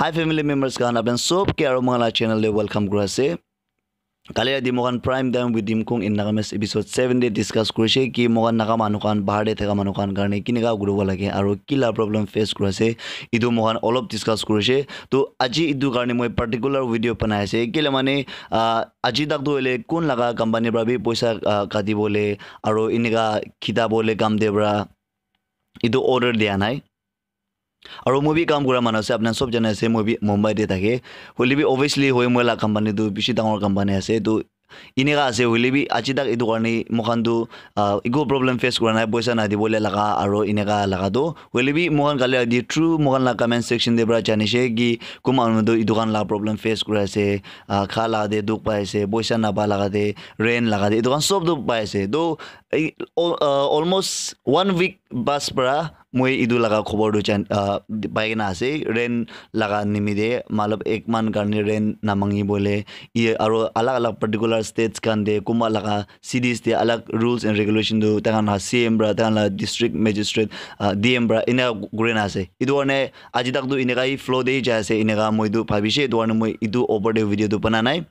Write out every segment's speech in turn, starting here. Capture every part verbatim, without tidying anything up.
Hi family members khan, apni sob ke aru moikhan la channel te welcome kuri ase. Kali rati moikhan Prime Time with Dimkung in Nagamese episode seven te discuss kurishe ki moikhan Naga manu khan, bahar te thaka manu khan karne kineka kuribo lage aru kila problem face kuri ase, etu moikhan olop discuss kurishe. To aji etu karne moi particular video banai ase, kile mane, ah, aji tak tu hoile kun laga company para bi poisa, ah, kati bole aru eneka khita bole kam te para etu order dia nai. Aru moi bi kam kura manu ase, apni sob jane ase, moi bi Mumbai te thake. Hoile bi obviously hoi moi la company tu bishi dangor company ase. To eneka ase, hoile bi aji tak etu karne moikhan tu, ah, eku problem face kura nai, poisa na dibole laga aru eneka laga tu. Hoile bi moikhan kali rati through moikhan la comment section te para janishe ki kun manu tu etu khan la problem face kuri ase, ah, kha laga te dukh pai ase, poisa na pa laga te, rent laga te, etu khan sob tu pai ase. To, eh, al-, ah, almost one week bas para moi etu laga khobor tu jan, ah, pai kena ase, rent laga nimite, matlab ek man karne rent na mangi bole, ye aru alag alag particular states khan te, kunba laga cities te alag rules and regulation tu, taikhan la C M para, taikhan la district magistrate, ah, D M para, ena kuri na ase. Etu karne aji tak tu eneka hi flow te hi jai ase, eneka moi tu bhabishe, etu karne moi etu opor te video tu bana nai.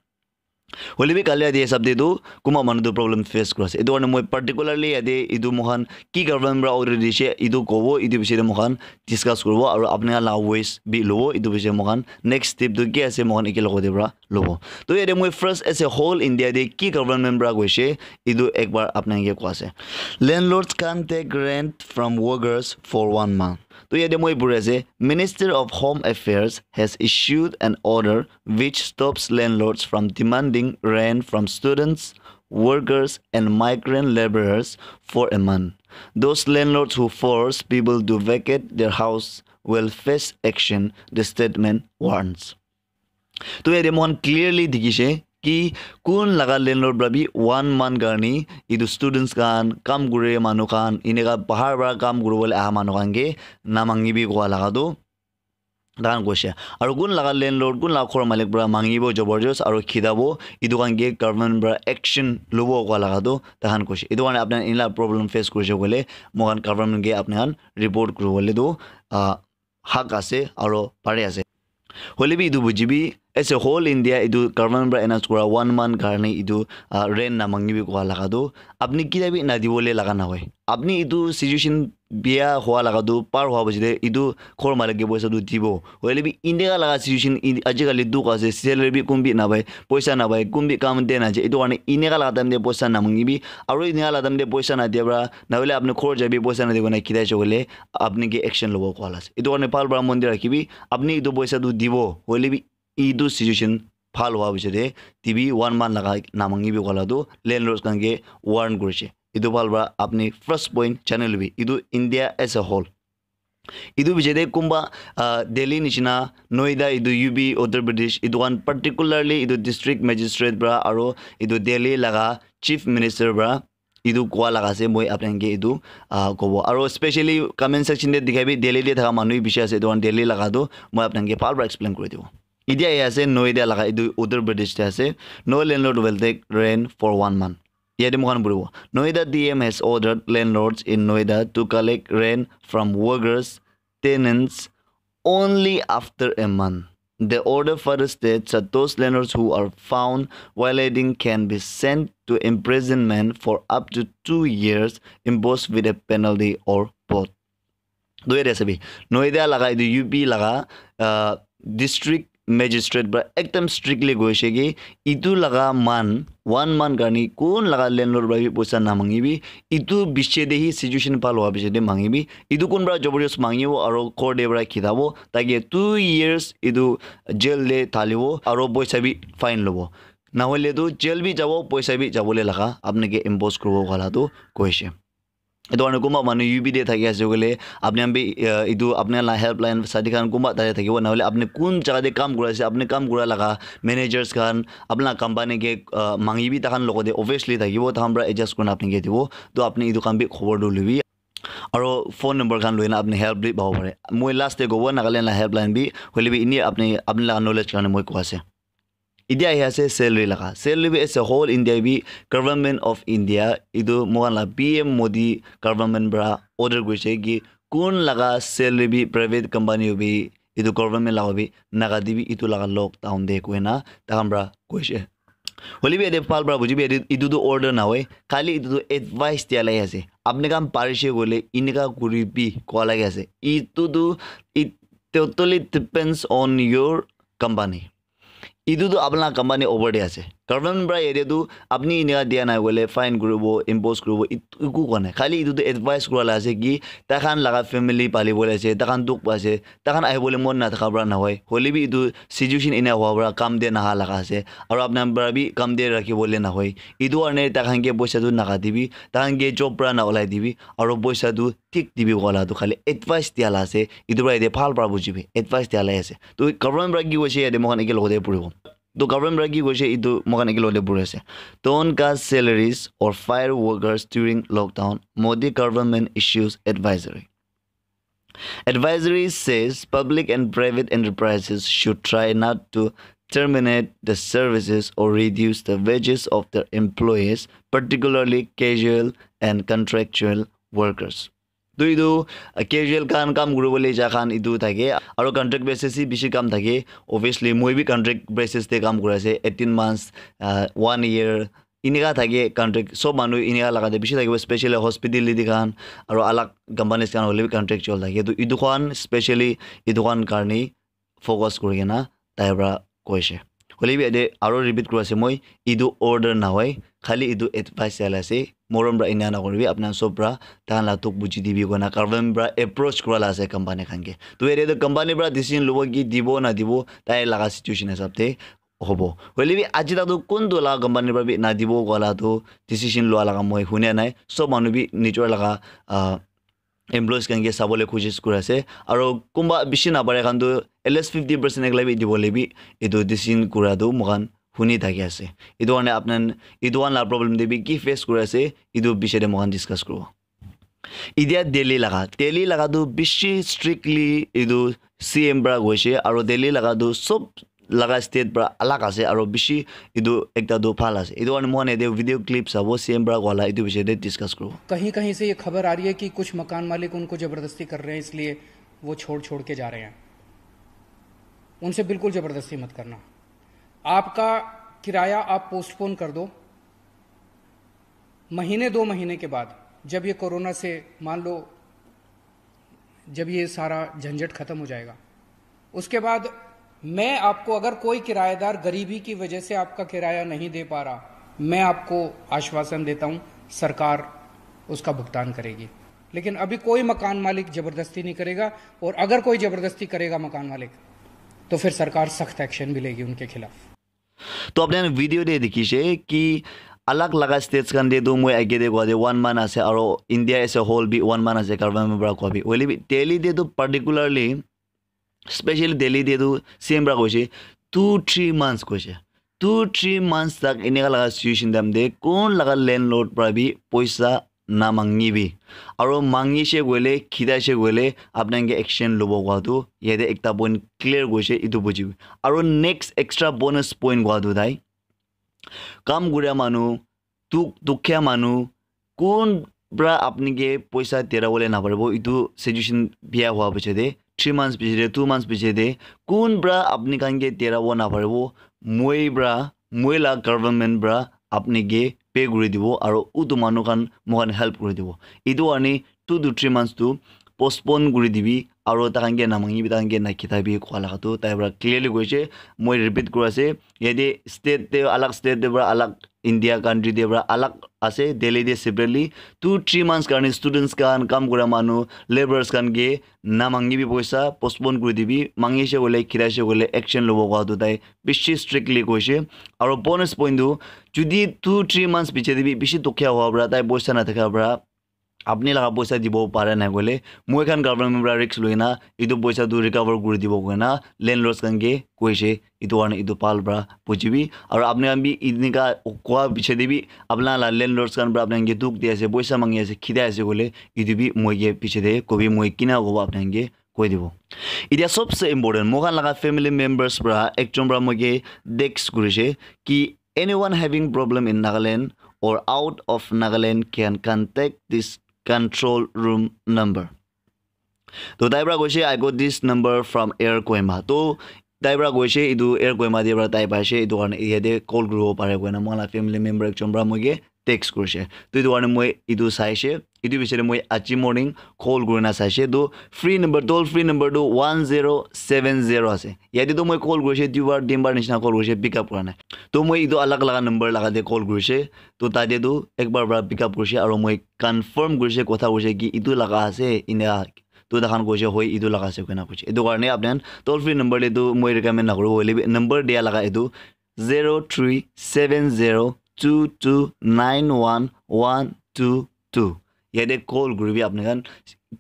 Hoile bi kali yate hisab te tu kunba manu tu problem face kuri ase. Etu karne moi particularly yate etu moikhan ki government para order dishe, etu kobo, etu bishe te moikhan discuss kuribo, aru apni khan la voice bi lobo, etu bishe moikhan next step tu ki ase, moikhan eke logote para lobo. To yate moi first as a whole India te ki government para koishe, etu ekbar apni khan ke koi ase. Landlords can't take rent from workers for one month. To yate moi puri ase, Minister of Home Affairs has issued an order which stops landlords from demanding rent from students, workers, and migrant laborers for a month. Those landlords who force people to vacate their house will face action, the statement warns. To yate moikhan clearly dikhishe ki kun laga landlord para bi one month karne etu students khan, kam kure manu khan, eneka bahar para kam kuribole aha manu khan ke namangibi koa laga tu tahan koishe. Aru kun laga landlord, kun laga ghor malik para mangibo jabardast aru khidabo, etu khan ke government para action lobo koa laga tu tahan koishe. Etu karne apni khan enla problem face kurishe koile, moikhan government ke apni khan report kuribole tu, ah, hak ase aru pari ase. Hoile bi etu bujibi, as a whole India etu government para announce kura one month karne etu, ah, rent namangibi koa laga tu, apni kita bi nadibole laga nahoi. Apni etu situation bia hua laga tu par hua baji te etu ghor malik ke poisa tu dibo. Hoile bi India laga situation in, aji kali dukh ase, salary bi kun bi napai, poisa napai, kun bi kam te naje. Etu karne eneka laga time te poisa namangibi, aru eneka laga time te poisa nadia para, nahole apni ghor jabi, poisa nadi kena khidai chokole, apni ke action lobo koa la ase. Etu karne bhal para mon te rakhibi, apni etu poisa tu dibo, hoile bi etu situation bhal hua piche te dibi, one month laga namangibi koa la tu landlords khan ke warn kurishe. Etu bhal para apni first point jani lobi, etu India as a whole. Etu piche te kunba, ah, Delhi nishina, Noida, etu U P, Uttar Pradesh, etu khan particularly etu district magistrate para aru etu Delhi laga chief minister para etu koa laga ase, moi apni khan ke etu, ah, kobo. Aru specially comment section te dikhai bi Delhi te thaka manu bishi ase, etu khan Delhi laga tu moi apni khan ke bhal para explain kuri dibo. Etia ahi ase Noida laga, etu Uttar Pradesh te ase. No landlord will take rent for one month. Yate moikhan puribo. Noida D M has ordered landlords in Noida to collect rent from workers, tenants, only after a month. The order further states that those landlords who are found violating can be sent to imprisonment for up to two years, imposed with a penalty or both. Doi ase bi. Noida laga etu U P laga, ah, district magistrate para ekdam strictly koishe ki etu laga man, one month karni kun laga landlord para bi poisa namangibi, etu piche te hi situation bhal hua piche te mangibi. Etu kun para jabardast mangibo aru court te para khitabo, take two years etu jail te thalibo aru poisa bi fine lobo. Nahole tu jail bi jabo, poisa bi jabole laga apni ke impose kuribo koa la tu koishe. Etu karne kunba manu U P te thaki ase koile, apni khan bi, ah, etu apni khan la helpline sati khan kunba tate thakibo, nahole apni kun jaga te kam kuri ase, apni kam kura laga managers khan, apni la company ke, ah, mangibi, takhan logote obviously thakibo, takhan para adjust kurina apni ke dibo. To apni etu khan bi khobor tu lobi. Aru phone number khan loina apni help bi pabo pare. Moi last te kobo Nagaland la helpline bi, hoile bi ini apni, apni la knowledge karne moi koi ase. Etia ahi ase salary laga. Salary bi as a whole India bi, Government of India, etu moikhan la P M Modi government para order kurishe ki kun laga salary bi private company bi etu government laga bi, Naga te bi etu laga lockdown de koina takhan pra koishe. Hoile bi yate bhal pra bujibi, yate etu tu order nahoi, khali etu tu advice dia lai ase. Apni khan parishe koile inika kuribi koa lagi ase. Etu tu, it totally depends on your company. Etu tu apna company over de ase. Government pra yate tu apni inika dia nai koile fine kuribo, impose kuribo, it- eku koa nai. Khali etu tu advice kura la ase ki takhan laga family pali bole ase, takhan dukh pa ase, takhan ahibole mon nathaka pra nahoi. Hoile bi etu situation ena hua pra kam de naha laga ase. Aru apna pra bi kam de rakhi bole nahoi. Etu karne takhan ke poisa tu nakati bi, takhan ke job pra na ulai dibi, aru poisa tu thik dibi koa la tu khali advice dia la ase. Etu pra yate bhal pra bujibi, advice dia la ase. To government pra ki koise yate moikhan eke logote puribo. To government pra ki koise etu moikhan eke logote puri ase. Don't cut salaries or fire workers during lockdown, Modi government issues advisory. Advisory says public and private enterprises should try not to terminate the services or reduce the wages of their employees, particularly casual and contractual workers. Tu etu, uh, casual khan kam kuribole ja khan etu thake, aru contract basis hi bishi kam thake. Obviously moi bi contract basis te kam kuri ase, eighteen months, uh, one year, inika thake contract. Sob manu inika laga te bishi thakibo, specially hospitality khan aru alag companies khan hoile bi contractual thake. Tu etu khan specially etu khan karne focus kuri kena tai pra koise. Hoile bi yate aro repeat kuri ase moi, etu order nahoi, khali etu advice dia la ase. Morom pra ena nakuribi, apna sob pra takhan la dukh buji dibi koina government pra approach kura la ase company khan ke. To yate tu company pra decision lobo ki dibo nadibo, tai laga situation hisab te hobo. Hoile bi aji tak tu kuntu laga company pra bi nadibo koa la tu decision lua laga moi hunia nai. Sob manu bi nijor laga, ah, employees khan ke sabole koshish kuri ase. Aru kunba bishi napare khan tu at least fifty percent ekla bi dibole bi etu decision kura tu moikhan huni thaki ase. Etu karne apna, etu khan la problem te bi ki face kuri ase, etu bishe te moikhan discuss kuribo. Etia Delhi laga, Delhi laga tu bishi strictly etu C M pra koise, aru Delhi laga tu sob laga state pra alag ase, aru bishi etu ekta tu bhal ase. Etu karne moikhan yate video clip sabo, C M pra koa la etu bishe te discuss kuribo. कहीं कहीं से ये खबर आ रही है कि कुछ मकान मालिक उनको जबरदस्ती कर रहे हैं, इसलिए वो छोड़ छोड़ के जा रहे हैं। उनसे बिल्कुल जबरदस्ती मत करना। आपका किराया आप पोस्टपोन कर दो, महीने दो महीने के बाद जब ये कोरोना से मान लो जब ये सारा झंझट खत्म हो जाएगा, उसके बाद मैं आपको, अगर कोई किराएदार गरीबी की वजह से आपका किराया नहीं दे पा रहा, मैं आपको आश्वासन देता हूं, सरकार उसका भुगतान करेगी। लेकिन अभी कोई मकान मालिक जबरदस्ती नहीं करेगा, और अगर कोई जबरदस्ती करेगा मकान मालिक, तो फिर सरकार सख्त एक्शन भी लेगी उनके खिलाफ। To apni khan video te dikhi se ki alag laga states khan te tu moi age te koa te one month ase, aru India as a whole bi one month ase, government pra koa bi. Hoile bi Delhi te tu particularly, specially Delhi te tu C M pra koise, two three months koise. Two three months tak eneka laga situation time te kun laga landlord pra bi poisa na mangibi. Aru mangishe koile, khidaishe koile, apni khan ke action lobo koa tu yate ekta point clear koise, etu bujibi. Aru next extra bonus point koa tu tai, kam kuria manu, duk-, dukhiya manu, kun pra apni ke poisa dera bole naparibo, etu situation bia hua piche te, three months piche te, two months piche te, kun pra apni khan ke dera bo naparibo, moi pra, moi la government pra apni ke pay kuri dibo, aru utu manu khan moikhan help kuri dibo. Etu karne two to three months tu postpone kuri dibi, aru takhan ke namangibi, takhan ke nakhidabi koa laga tu tai pra clearly koise. Moi repeat kuri ase, yate state te alag, state te pra alag, India country te pra alag ase, Delhi te separately two three months karne students khan, kam kura manu, labourers khan ke namangibi poisa, postpone kuri dibi, mangishe koile, khidaishe koile action lobo koa tu tai bishi strictly koise. Aru bonus point tu, jodi two three months piche te bi bishi dukhiya hua pra, tai poisa nathaka pra, apni laga poisa dibo para nai koile, moi khan government pra risk loi na etu poisa tu recover kuri dibo koina landlords khan ke koise. Etu karne etu bhal pra bujibi. Aru apni khan bi enika koa piche te bi apna la landlords khan pra apni khan ke dukh di ase, poisa mangi ase, khidai ase koile, etu bi moi ke piche te kobi, moi kina kobo apni khan ke koi dibo. Etia sobse important, moi khan laga family members pra ekjon pra moi ke text kurise ki, anyone having problem in Nagaland or out of Nagaland can contact this control room number. To tai pra koise, "I got this number from Air Kohima." To tai pra koise, "Etu Air Kohima te pra tai paise, etu karne yate call kuribo pare," koina moi la family member ekjon pra moi ke text kurise. To etu karne moi etu saise, etu bisare moi aji morning call kurina saise. To free number, toll free number tu one zero seven zero ase. Yate tu moi call kurise, duibar tinbar nishina call kurise, pick up kura nai. To moi etu alag laga number laga te call kurise. To tate tu ekbar pra pick up kurise, aro moi confirm kurise, kotha kurise ki etu laga ase ena. To takhan koise, "Hoi, etu laga ase," koina koise. Etu karne apni khan toll free number te tu moi recommend nakuru, hoile bi number dia laga etu zero three seven zero two two nine one one two two. Yate call kuribi apni khan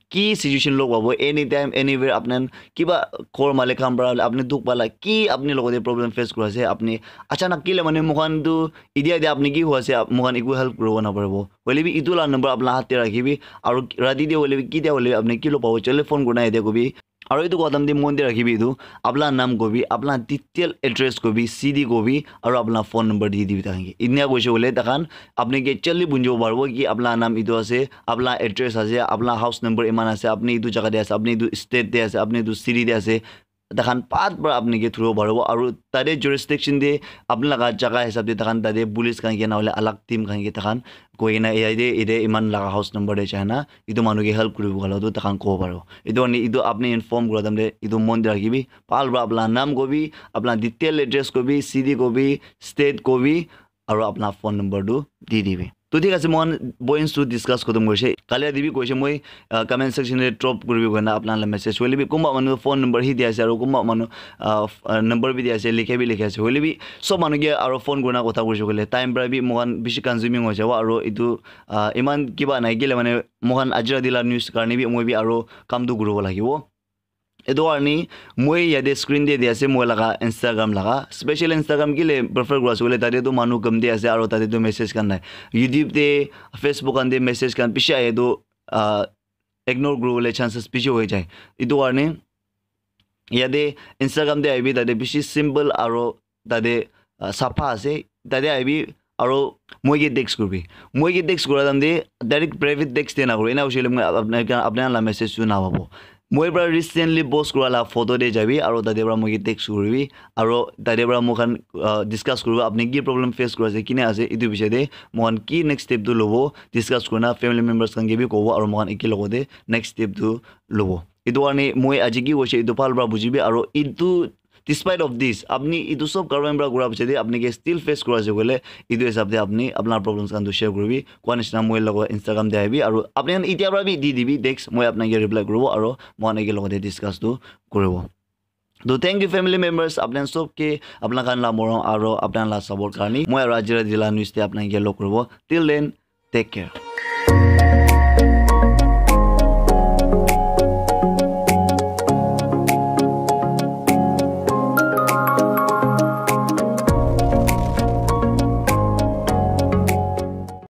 ki situation log pabo, anytime, anywhere, apni khan kiba ghor malik khan pra apni dukh pala, ki apni logote problem face kuri ase, apni achanak kile mane moikhan tu idia idia apni ki hoi ase, ap-, moikhan eku help kuribo naparibo. Hoile bi etu la number apna hat te rakhibi, aru rati te hoile bi, kitia hoile bi apni ki log pabo, chale phone kurina yate kobi. Aru etu kotha te mon te rakhibi etu, apna naam kobi, apna detail address kobi, city kobi, aru apna phone number di dibi takhan ke. Inia koise hoile takhan apni ke jaldi bunjibo paribo ki apna naam etu ase, apna address ase, apna house number iman ase, apni etu jaga te ase, apni etu state te ase, apni etu city te ase. Takhan pat para apni ke thuribo paribo. Aru tate jurisdiction te apni laga jaga hisab te takhan tate police khan ke na hoile alag team khan ke takhan koi kena yate, yate iman laga house number te jai na etu manu ke help kuribo koile tu takhan kobo paribo. Etu karne etu apni inform kura time te etu mon te rakhibi. Bhal para apna naam kobi, apna detail address kobi, city kobi, state kobi, aru apna phone number tu di dibi. To thik ase, moikhan points tu discuss khotom koise. Kali adi bi koise moi, ah, comment section te drop kuribi koina apna la message. Hoile bi kunba manu phone number hi di ase aru kunba manu, ah, f-, ah, number bi di ase, likhe bi likhe ase. Hoile bi sob manu ke aru phone kurina kotha koise koile time para bi moikhan bishi consuming hoi jabo aru etu, ah, iman kiba nai kile mane moikhan aji rati la news karne bi moi bi aru kam tu kuribo lagibo. Etu karne moi yate screen te di ase moi laga Instagram laga. Special Instagram kile prefer kura ase koile tate tu manu kam di ase aru tate tu message khan nai. YouTube te, Facebook khan te message khan bishi ahe tu, ah, ignore kuribole chances bishi hoi jai. Etu karne yate Instagram te ahibi, tate bishi simple aru tate, ah, sapha ase. Tate ahibi aru moi ke text kuribi. Moi ke text kura time te direct private text te nakuru. Ena hoise koile moi apna, apna la message tu napabo. Moi para recently post kura la photo te jabi aru tate para moi ke text kuribi aru tate para moikhan, ah, discuss kuribo apni ki problem face kuri ase, kine ase, etu bishay te moikhan ki next step tu lobo discuss kurina family members khan ke bi kobo aru moikhan eke logote next step tu lobo. Etu karne moi aji ki koise etu bhal para bujibi aru etu despite of this, apni etu sob karban para kura piche de apni ke still face kura ase koile, etu hisab de apni apna problems khan tu share kuribi. Koa nishina moi logo Instagram de ahibi, aru apni khan itya para bi di dibi text, moi apna ke reply kuribo, aru moi apna ke logo de discuss tu kuribo. To thank you family members, apni khan sob ke apna khan la morom aru apna khan la support karni. Moi aru ajira dila news de apna ke log kuribo. Till then, take care.